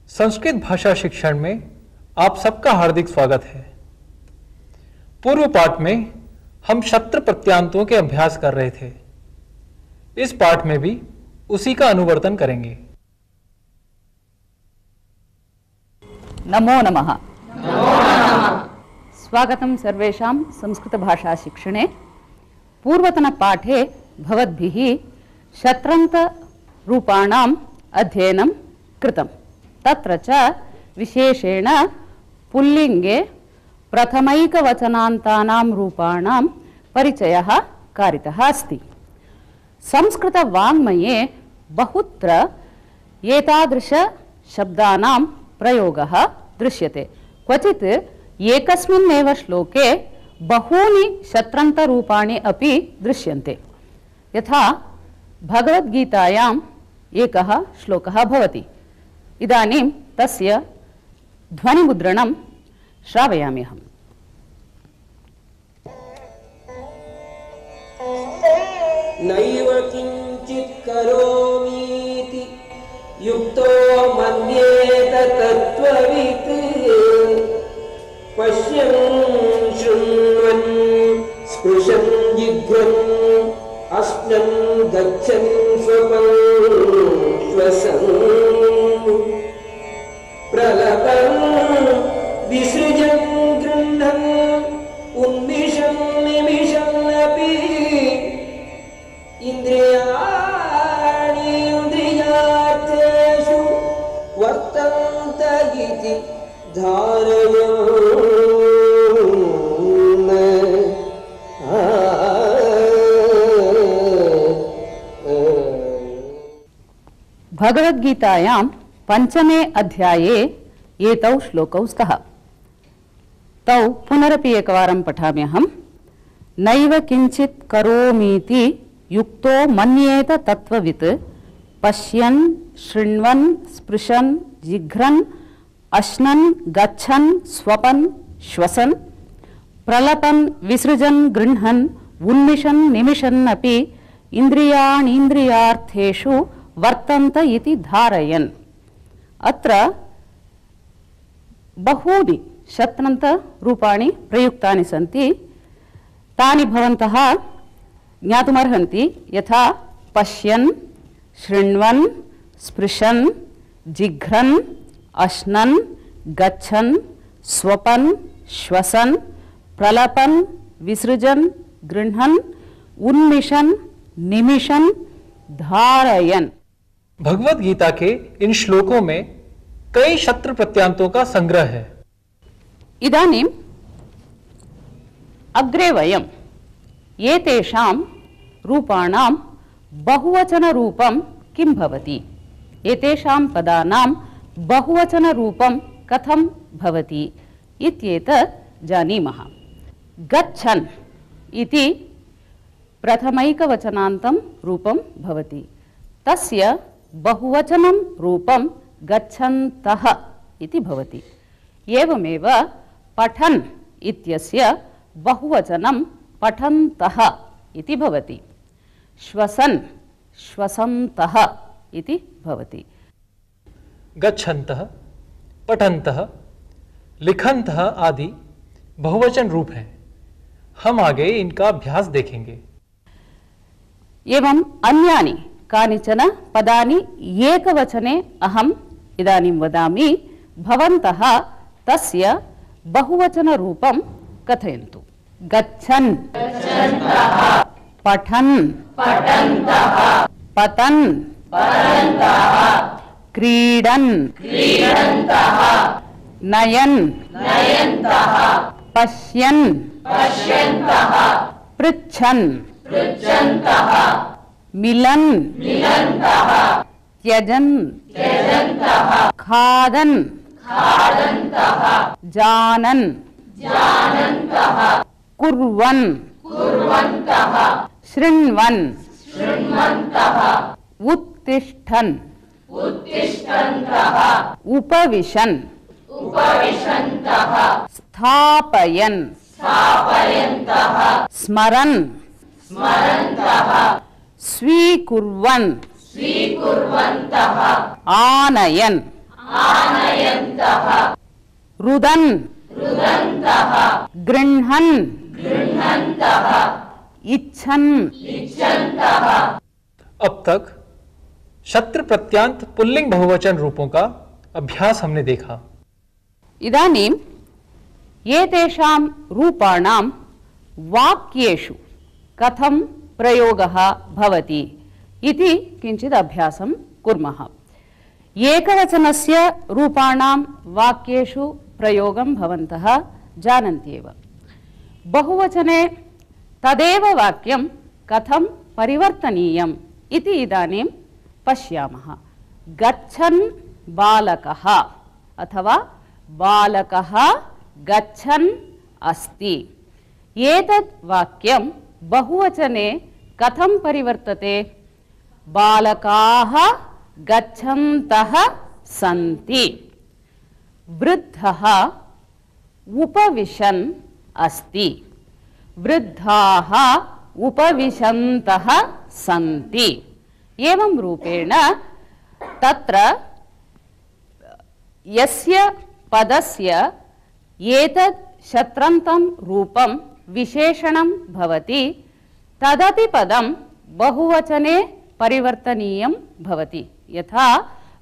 संस्कृत भाषा शिक्षण में आप सबका हार्दिक स्वागत है। पूर्व पाठ में हम शत्रु प्रत्यांतों के अभ्यास कर रहे थे। इस पाठ में भी उसी का अनुवर्तन करेंगे। नमो नमः। स्वागतं सर्वेषां संस्कृत भाषा शिक्षणे। पूर्वतन पाठे भवद्भिः शत्रन्त रूपाणाम् अध्ययनं कृतम्। तत्र च विशेषेण पुल्लिङ्गे प्रथमैकवचनान्तानां रूपाणां परिचयः कारितः अस्ति। संस्कृतवाङ्मये बहुत्र एतादृश शब्दानां प्रयोगः दृश्यते। क्वचित् एकस्मिन्नेव श्लोके बहूनि शत्रन्तरूपाणि अपि दृश्यन्ते। यथा भगवद्गीतायाम् एकः श्लोकः भवति। इदानीं तस्य ध्वनिमुद्रणं श्रावयामि अहम्। नैव किञ्चित् करोमीति युक्तो मन्येत तत्त्ववित् पश्यन् शृण्वन् स्पृशन् जिघ्रन् अश्नन् गच्छन् स्वपन् श्वसन् प्रलपन् विसृजन् गृह्णन् उन्मिषन् निमिषन्नपि इन्द्रियाणि इन्द्रियार्थेषु वर्तन्त इति धारयन्। भगवद्गीतायां पंचमे अध्याये एतौ श्लोकौ स्तः। तौ पुनरपि एकवारं पठामि अहम्। नैव किञ्चित् करोमीति युक्तो मन्येत तत्त्ववित् पश्यन् शृण्वन् स्पृशन् जिघ्रन् अश्नन् गच्छन् स्वपन् श्वसन् प्रलपन् विसृजन् गृह्णन् उन्मिषन् निमिषन् अपि इन्द्रियाणीन्द्रियार्थेषु वर्तन्त इति धारयन्। अत्र बहूनि शत्रन्त रूपाणि प्रयुक्तानि सन्ति। तानि भवन्तः ज्ञातुमर्हन्ति। यथा पश्यन् शृण्वन् स्पृशन् जिघ्रन् अश्नन् गच्छन् स्वपन् श्वसन् प्रलपन् विसृजन् गृह्णन् उन्मिषन् निमिषन् धारयन्। भगवद गीता के इन श्लोकों में कई शत्रु प्रत्यांतों का संग्रह है। इदानीम् अग्रे वयम् एतेषां रूपाणां बहुवचनरूपं किं भवति, एतेषां पदानां बहुवचनरूपं कथं भवति इत्येतत् जानीमः। गच्छन् इति प्रथमैकवचनान्तं रूपं भवति। तस्य बहुवचनं रूपं गच्छन्तः इति भवति। एवमेव पठन् इत्यस्य बहुवचनं पठन्तः इति भवति। श्वसन् श्वसन्तः इति भवति। गच्छन्तः पठन्तः लिखन्तः आदि बहुवचन रूप हैं। हम आगे इनका अभ्यास देखेंगे। एवं अन्यानि कानिचन पदानि एकवचने अहम् इदानीं वदामि। भवन्तः तस्य बहुवचनरूपं कथयन्तु। गच्छन् पठन् पतन् क्रीडन् नयन् पश्यन् पृच्छन् मिलन् त्यजन् खादन् जानन् कुर्वन् शृण्वन् उत्तिष्ठन् उपविशन् स्थापयन् स्मरन् स्वीकुर्वन् आनयन् रुदन् गृह्णन् इच्छन्। अब तक शत्र प्रत्यांत पुल्लिंग बहुवचन रूपों का अभ्यास हमने देखा। इदानीं एतेषां रूपाणां वाक्येषु कथं प्रयोगः भवति इति किञ्चित् अभ्यासं कुर्मः। एकवचनस्य रूपाणां वाक्येषु प्रयोगं भवन्तः जानन्ति एव। बहुवचने तदेव वाक्यं कथं परिवर्तनीयम् इति इदानीं पश्यामः। गच्छन् बालकः अथवा बालकः गच्छन् अस्ति। एतत् वाक्यं बहुवचने कथं परिवर्तते? बालकाः गच्छन्तः सन्ति। वृद्धः उपविशन् अस्ति। वृद्धाः उपविशन्तः सन्ति। एवं रूपेण तत्र यस्य पदस्य एतत् शत्रन्तं रूपं विशेषणं भवति तदपि पदं बहुवचने परिवर्तनीयं भवति। यथा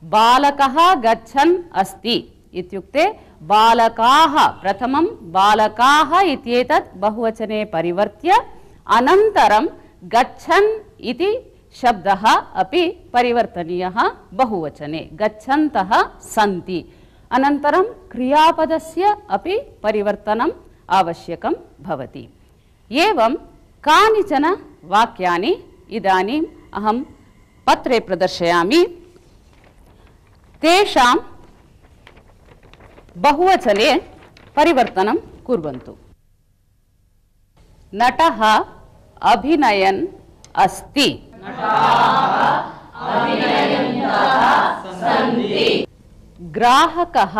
बालकः गच्छन् अस्ति इत्युक्ते बालकाः, प्रथमं बालकाः इत्येतत् बहुवचने परिवर्त्य अनन्तरं गच्छन् इति शब्दः अपि परिवर्तनीयः बहुवचने। गच्छन्तः सन्ति। अनन्तरं क्रियापदस्य अपि परिवर्तनम् आवश्यकं भवति। एवं कानिचन वाक्यानि इदानीम् अहं पत्रे प्रदर्शयामि। तेषां बहुवचने परिवर्तनं कुर्वन्तु। नटः अभिनयन् अस्ति। ग्राहकः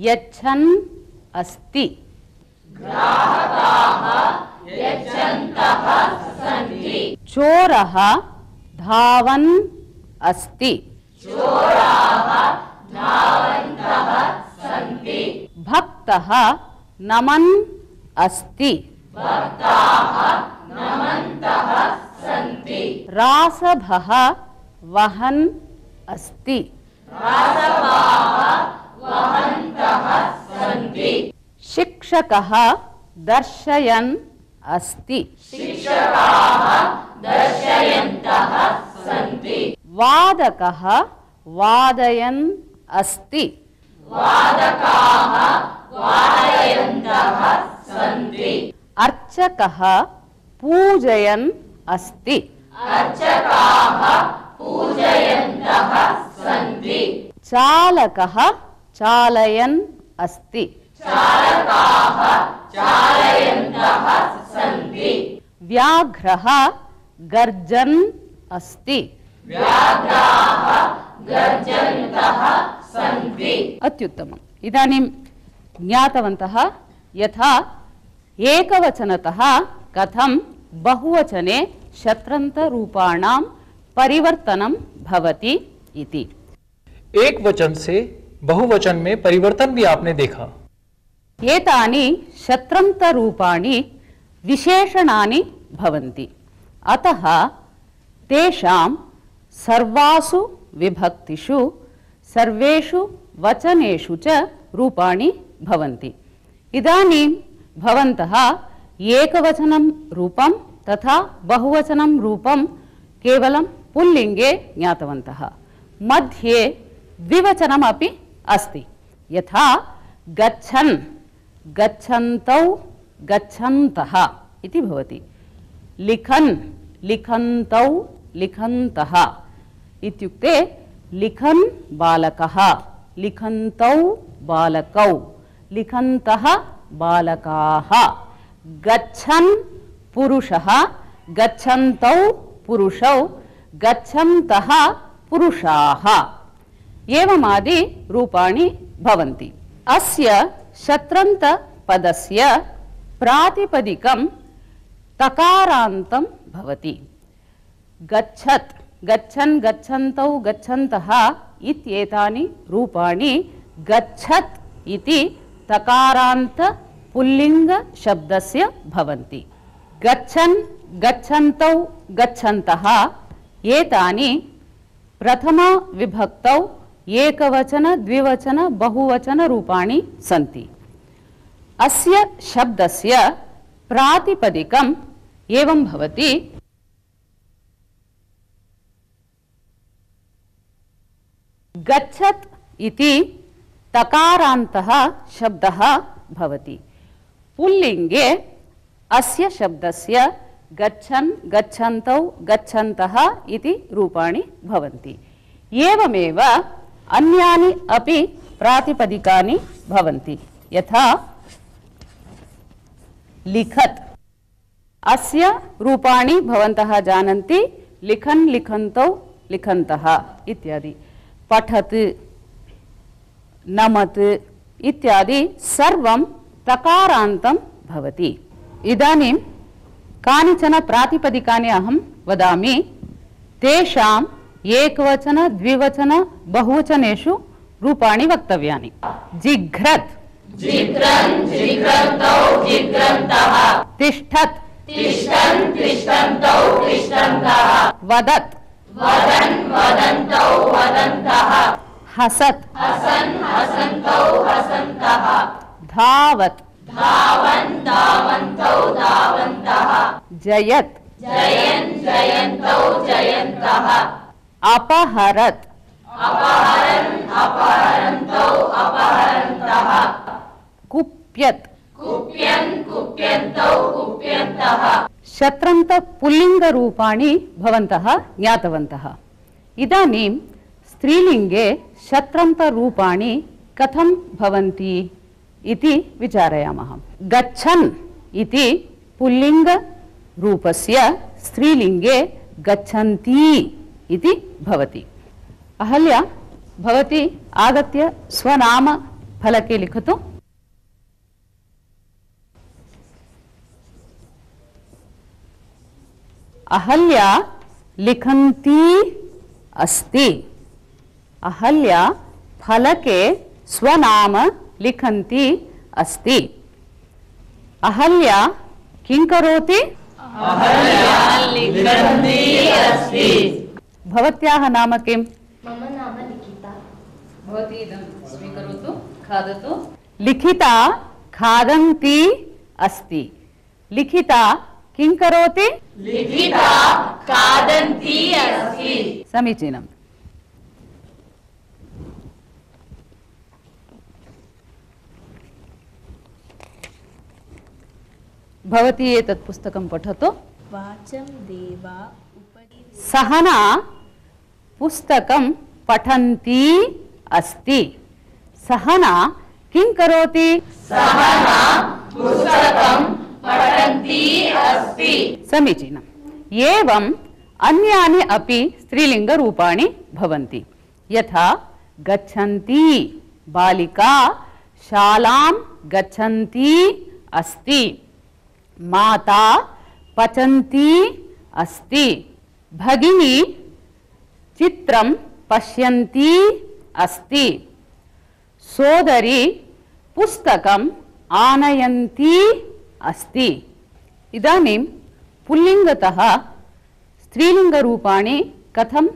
यच्छन् अस्ति। चोरः धावन् अस्ति। भक्तः नमन् अस्ति। रासभः वहन् अस्ति। शिक्षकः दर्शयन् अस्ति। वादकः वादयन् अस्ति। अर्चकः पूजयन् अस्ति। चालकः चालयन् अस्ति। व्याघ्रः गर्जन् अस्ति। अत्युत्तमम्। इदानीं ज्ञातवन्तः यथा एकवचनतः कथं बहुवचने शत्रन्तरूपाणां परिवर्तनं भवति इति। एक वचन से बहुवचन में परिवर्तन भी आपने देखा। एतानि शत्रन्तरूपाणि विशेषणानि भवन्ति। अतः तेषां सर्वासु विभक्तिषु सर्वेषु वचनेषु च रूपाणि भवन्ति। इदानीं भवन्तः एकवचनं रूपं तथा बहुवचनं रूपं केवलं पुल्लिङ्गे ज्ञातवन्तः। मध्ये द्विवचनमपि अस्ति। यथा गच्छन् गच्छन्तौ गच्छन्तः इति भवति। लिखन् लिखन्तौ लिखन्तः इत्युक्ते लिखन् बालकः लिखन्तौ बालकौ लिखन्तः बालकाः। गच्छन् पुरुषः गच्छन्तौ पुरुषौ गच्छन्तः पुरुषाः एवमादि रूपाणि भवन्ति। अस्य शत्रन्त पदस्य प्रातिपदिकं तकारान्तं भवति। गच्छत्, गच्छन्, गच्छन्तौ, गच्छन्तः इत्येतानि रूपाणि गच्छत् इति तकारान्त पुल्लिङ्ग शब्दस्य भवन्ति। गच्छन्, गच्छन्तौ, गच्छन्तः एतानि प्रथमा विभक्तौ एकवचन, द्विवचन, बहुवचन रूपाणि सन्ति। अस्य शब्दस्य प्रातिपदिकम् एवं भवति। गच्छत् इति तकारान्तः शब्दः भवति। पुल्लिङ्गे अस्य शब्दस्य गच्छन्, गच्छन्तौ, गच्छन्तः इति रूपाणि भवन्ति। एवमेव अन्यानि अपि प्रातिपदिकानि भवन्ति। यथा लिखत्, अस्य रूपाणि भवन्तः जानन्ति। लिखन्, लिखन्तौ, लिखन्तः इत्यादि। पठत्, नमत् इत्यादि सर्वं तकारान्तं भवति। इदानीं कानिचन प्रातिपदिकानि अहं वदामि। तेषाम् एकवचन, द्विवचन, बहुवचनेषु रूपाणि वक्तव्यानि। जिघ्रत्, जिघ्रन्, जिघ्रन्तौ, जिघ्रन्तः। तिष्ठत्, तिष्ठन्, तिष्ठन्तौ, तिष्ठन्तः। वदत्, वदन्, वदन्तौ, वदन्तः। हसत्, हसन्, हसन्तौ, हसन्तः। धावत्, धावन्, धावन्तौ, धावन्तः। जयत्, जयन्, जयन्तौ, जयन्तः। अपहरत्, अपहरन्, अपहरन्तौ, अपहरन्तः। कुप्यत्, कुप्यन्, कुप्यन्तौ, कुप्यन्तः। शत्रन्त पुल्लिङ्गरूपाणि भवन्तः ज्ञातवन्तः। इदानीं स्त्रीलिङ्गे शत्रन्तरूपाणि कथं भवन्ति इति विचारयामः। गच्छन् इति पुल्लिङ्गरूपस्य स्त्रीलिङ्गे गच्छन्ती इति भवति। अहल्या, भवती आगत्य स्वनाम फलके लिखतु। अहल्या लिखन्ती अस्ति। अहल्या फलके स्वनाम लिखन्ती अस्ति। अहल्या किं करोति? अहल्या लिखन्ती अस्ति। भवत्याः नाम किम्? मम नाम लिखिता। भवती इदं स्वीकरोतु, खादतु। लिखिता खादन्ती अस्ति। लिखिता किं करोति? लिखिता खादन्ती अस्ति। समीचीनम्। भवती एतत् पुस्तकं पठतु। वाचं देवा उपरि। सहना पुस्तकं पठन्ती अस्ति। सहना किं करोति? सहना पुस्तकं पठन्ती अस्ति। समीचीनम्। एवम् अन्यानि अपि स्त्रीलिङ्गरूपाणि भवन्ति। यथा गच्छन्ती, बालिका शालां गच्छन्ती अस्ति। माता पचन्ती अस्ति। भगिनी चित्रं पश्यन्ती अस्ति। सोदरी पुस्तकम् आनयन्ती अस्ति। इदानीं पुल्लिङ्गतः स्त्रीलिङ्गरूपाणि कथं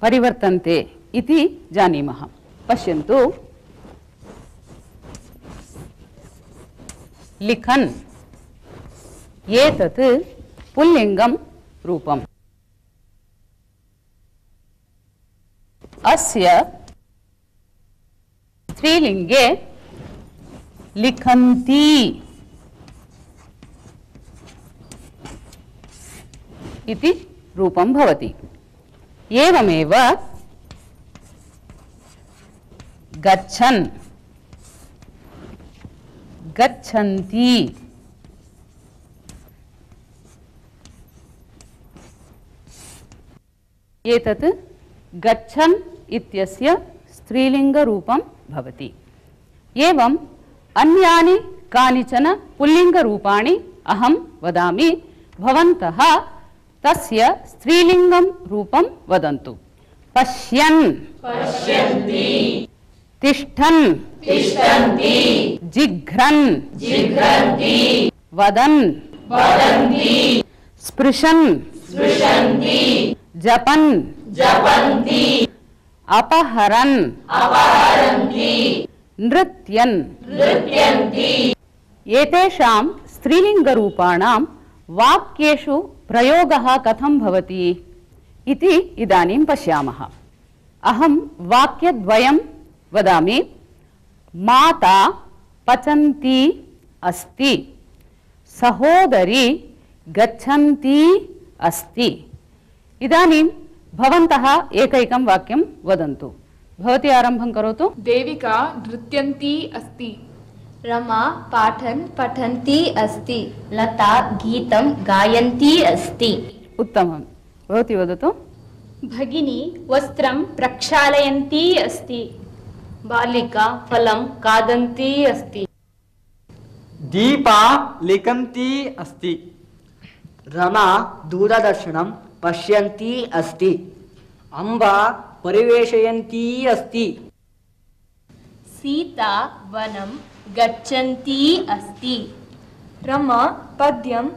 परिवर्तन्ते इति जानीमः। पश्यन्तु। लिखन्, एतत् पुल्लिङ्गं रूपम्। अस्य स्त्रीलिङ्गे लिखन्ती इति रूपं भवति। एवमेव गच्छन्, गच्छन्ती, एतत् गच्छन् इत्यस्य स्त्रीलिङ्गरूपं भवति। एवम् अन्यानि कानिचन पुल्लिङ्गरूपाणि अहं वदामि, भवन्तः तस्य स्त्रीलिङ्गं रूपं वदन्तु। पश्यन्, पश्यन्ति, तिष्ठन्, तिष्ठन्ति, जिघ्रन्, जिघ्रन्ति, वदन्, वदन्ति, स्पृशन्, स्पृशन्ति, जपन्, जपन्ति, अपहरन्, अपहरन्ति, नृत्यन्। नृत्यन्ति। एतेषां स्त्रीलिङ्गरूपाणां वाक्येषु प्रयोगः कथं भवति इति इदानीं पश्यामः। अहं वाक्यद्वयं वदामि। माता पचन्ती अस्ति, सहोदरी गच्छन्ती अस्ति। इदानीं भवन्तः एकैकं वाक्यं वदन्तु। भवती आरम्भं करोतु। देविका नृत्यन्ती अस्ति। रमा पाठन् पठन्ती अस्ति। लता गीतं गायन्ती अस्ति। उत्तमं। भवती वदतु। भगिनी वस्त्रं प्रक्षालयन्ती अस्ति। बालिका फलं खादन्ती अस्ति। दीपा लिखन्ती अस्ति। रमा दूरदर्शनं पश्यन्ती अस्ति। अम्बा परिवेशयन्ती अस्ति। सीता वनं गच्छन्ती अस्ति। रमा पद्यं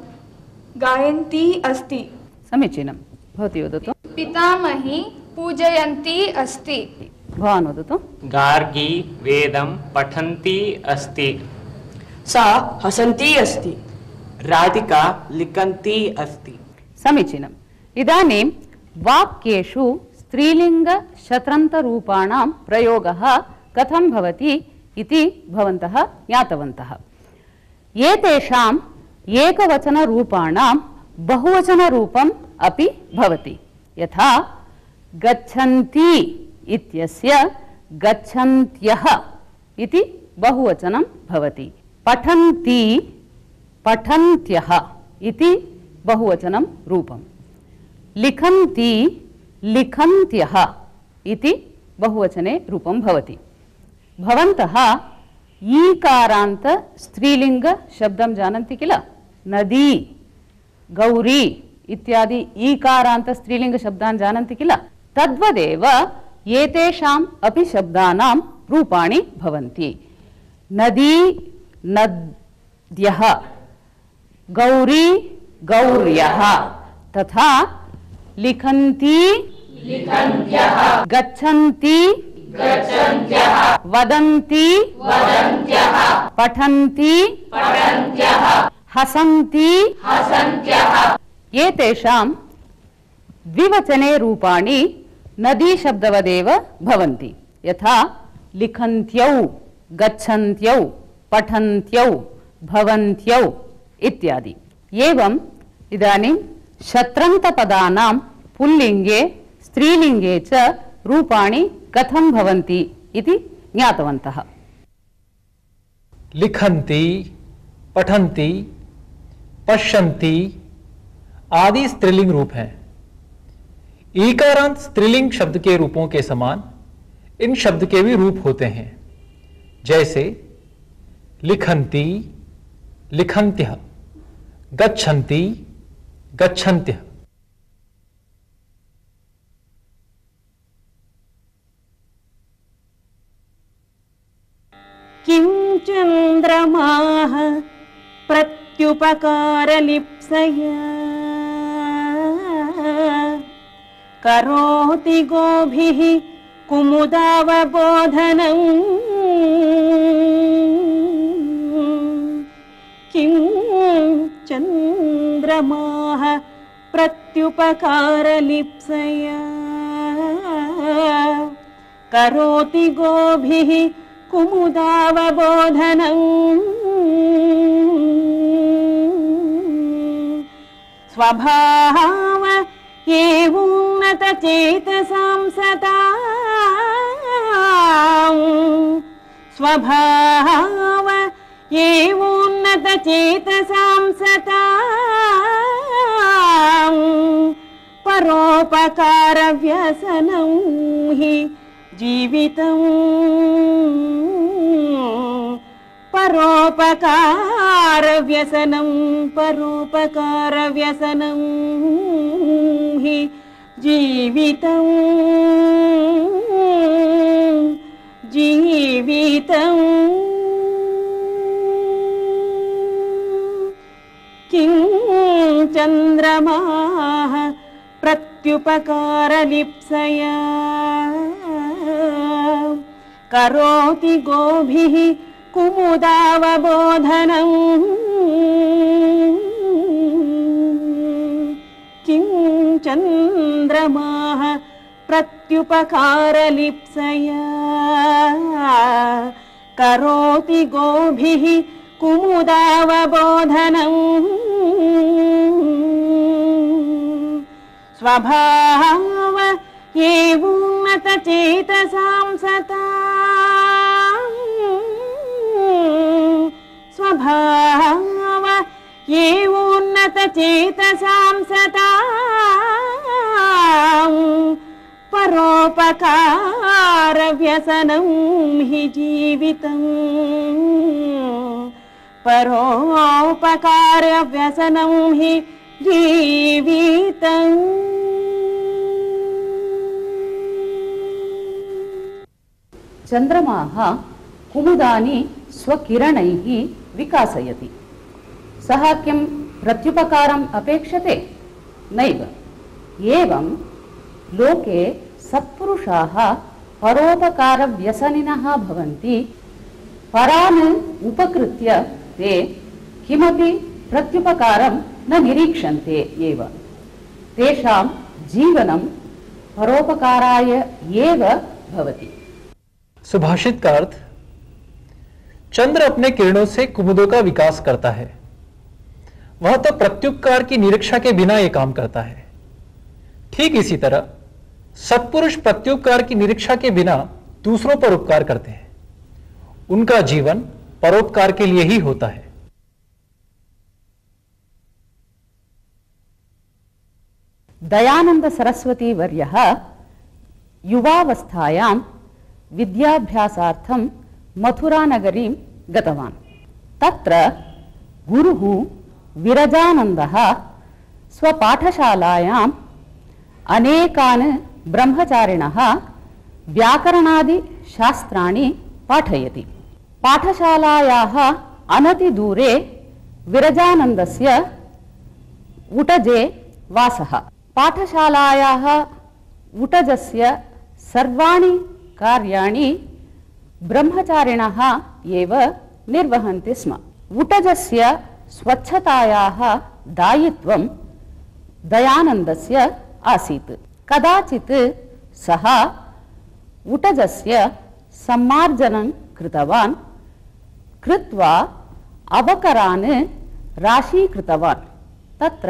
गायन्ती अस्ति। समीचीनं। भवती वदतु। पितामही पूजयन्ती अस्ति। भवान् वदतु। गार्गी वेदं पठन्ती अस्ति। सा हसन्ती अस्ति। राधिका लिखन्ती अस्ति। समीचीनम्। इदानीं वाक्येषु स्त्रीलिङ्गशत्रन्तरूपाणां प्रयोगः कथं भवति इति भवन्तः ज्ञातवन्तः। एतेषाम् एकवचनरूपाणां बहुवचनरूपम् अपि भवति। यथा गच्छन्ति इत्यस्य गच्छन्त्यः इति बहुवचनं भवति। पठन्ति पठन्त्यः इति बहुवचनं रूपं। लिखन्ति लिखन्त्यः इति बहुवचने रूपं भवति। भवन्तः ईकारान्त स्त्रीलिङ्ग शब्दं जानन्ति किल? नदी, गौरी इत्यादि ईकारान्त स्त्रीलिङ्ग शब्दान् जानन्ति किल? तद्वदेव एतेषाम् अपि शब्दानां रूपाणि भवन्ति। नदी नद्यः, गौरी गौर्यः, तथा लिखन्ति लिखन्त्यः, गच्छन्ति गच्छन्त्यः, वदन्ति वदन्त्यः, पठन्ति पठन्त्यः, हसन्ति हसन्त्यः। एतेषां द्विवचने रूपाणि नदी शब्दवदेव भवन्ति। यथा लिखन्त्यौ, गच्छन्त्यौ, पठन्त्यौ, भवन्त्यौ इत्यादि। एवम् इदानीं शत्रन्तपदानां पुल्लिङ्गे स्त्रीलिङ्गे च रूपाणि कथं भवन्ति इति ज्ञातवन्तः। लिखन्ति, पठन्ति, पश्यन्ति आदि स्त्रीलिंग रूप हैं। ईकारांत स्त्रीलिंग शब्द के रूपों के समान इन शब्द के भी रूप होते हैं, जैसे लिखन्ति, लिखन्त्यः, गच्छन्ति, गच्छन्त्यः। किं चन्द्रमाः प्रत्युपकारलिप्सया करोति गोभिः कुमुदावबोधनम् किं चन्द्रमाः प्रत्युपकारलिप्सया करोति गोभिः कुमुदावबोधनम् स्वभाव एवोन्नतचेतसां सताम् स्वभाव एवोन्नतचेतसां सताम् परोपकारव्यसनं हि जीवितं परोपकारव्यसनं परोपकारव्यसनं हि जीवितं जीवितं किं चन्द्रमाः प्रत्युपकारलिप्सया करोति गोभिः कुमुदावबोधनं किं चन्द्रमाः प्रत्युपकारलिप्सया करोति गोभिः कुमुदावबोधनं स्वभाव एवोन्नतचेतसां सतां स्वभाव एवोन्नतचेतसां सतां परोपकारव्यसनं हि जीवितं परोपकारव्यसनं हि जीवितम्। चन्द्रमाः कुमुदानि स्वकिरणैः विकासयति। सः किं प्रत्युपकारम् अपेक्षते? नैव। एवं लोके सत्पुरुषाः परोपकारव्यसनिनः भवन्ति। परान् उपकृत्य ते किमपि प्रत्युपकारं न निरीक्षन्ते एव। तेषां जीवनं परोपकाराय एव भवति। सुभाषित का अर्थ, चंद्र अपने किरणों से कुमुदों का विकास करता है, वह तो प्रत्युपकार की निरीक्षा के बिना यह काम करता है। ठीक इसी तरह सत्पुरुष प्रत्युपकार की निरीक्षा के बिना दूसरों पर उपकार करते हैं। उनका जीवन परोपकार के लिए ही होता है। दयानंद सरस्वती वर्यः युवावस्थायां विद्याभ्यासार्थं मथुरानगरीं गतवान्। तत्र गुरुः विरजानन्दः स्वपाठशालायाम् अनेकान् ब्रह्मचारिणः व्याकरणादिशास्त्राणि पाठयति। पाठशालायाः अनतिदूरे विरजानन्दस्य उटजे वासः। पाठशालायाः उटजस्य सर्वाणि कार्याणि ब्रह्मचारिणः एव निर्वहन्ति स्म। उटजस्य स्वच्छतायाः दायित्वं दयानन्दस्य आसीत्। कदाचित् सः उटजस्य सम्मार्जनं कृतवान्। कृत्वा अवकरान् राशीकृतवान्। तत्र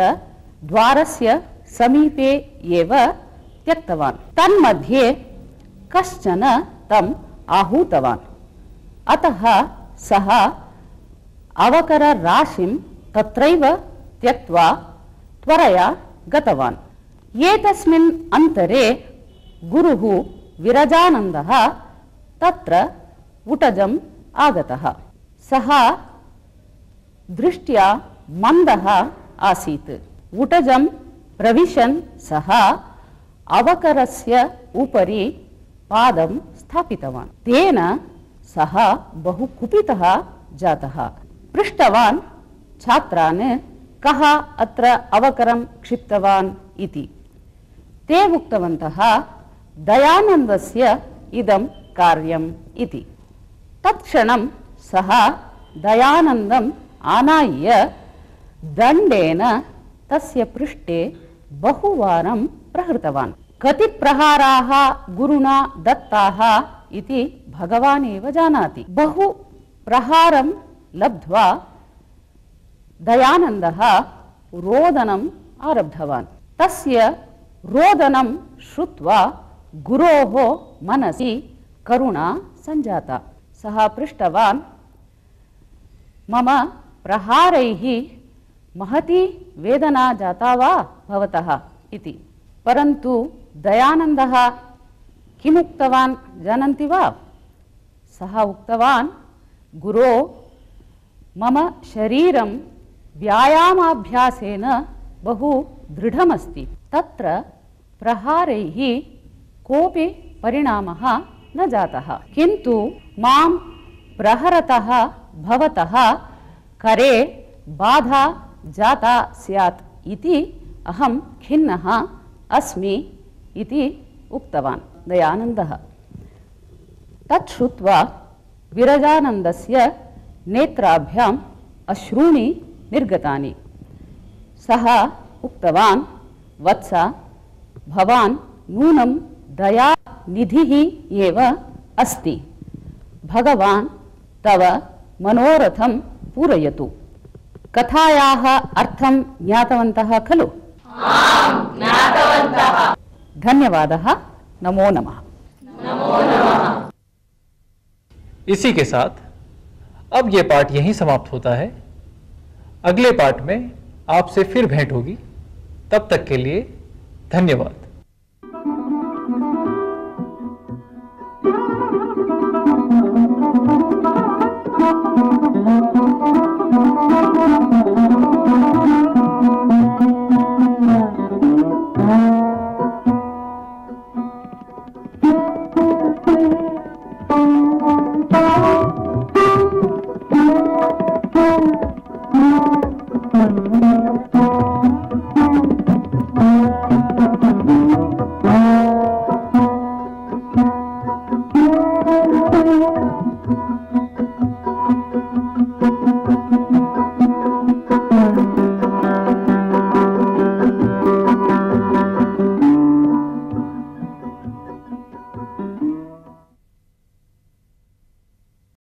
द्वारस्य समीपे एव त्यक्तवान्। तन्मध्ये कश्चन तम् आहूतवान्। अतः सः अवकरराशिं तत्रैव त्यक्त्वा त्वरया गतवान्। एतस्मिन् अन्तरे गुरुः विरजानन्दः तत्र उटजम् आगतः। सः दृष्ट्या मन्दः आसीत्। उटजं प्रविशन् सः अवकरस्य उपरि पादं स्थापितवान्। तेन सः बहु कुपितः जातः। पृष्टवान् छात्रान्, कः अत्र अवकरं क्षिप्तवान् इति। ते उक्तवन्तः, दयानन्दस्य इदं कार्यम् इति। तत्क्षणं सः दयानन्दम् आनाय्य दण्डेन तस्य पृष्ठे बहुवारं प्रहृतवान्। कति प्रहाराः गुरुणा दत्ताः इति भगवान् एव जानाति। बहु प्रहारं लब्ध्वा दयानन्दः रोदनम् आरब्धवान्। तस्य रोदनं श्रुत्वा गुरोः मनसि करुणा सञ्जाता। सः पृष्टवान्, मम प्रहारैः महती वेदना जाता वा भवतः इति। परन्तु दयानन्दः किम् उक्तवान् जानन्ति वा? सः उक्तवान्, गुरो, मम शरीरं व्यायामाभ्यासेन बहु दृढमस्ति, तत्र प्रहारैः कोऽपि परिणामः न जातः, किन्तु मां प्रहरतः भवतः करे बाधा जाता स्यात् इति अहं खिन्नः अस्मि इति उक्तवान् दयानन्दः। तत् श्रुत्वा विरजानन्दस्य नेत्राभ्याम् अश्रूणि निर्गतानि। सः उक्तवान्, वत्स, भवान् नूनं दयानिधिः एव अस्ति। भगवान् तव मनोरथं पूरयतु। कथायाः अर्थं ज्ञातवन्तः खलु? धन्यवादः। नमो नमः। इसी के साथ अब यह पाठ यहीं समाप्त होता है। अगले पाठ में आपसे फिर भेंट होगी। तब तक के लिए धन्यवाद।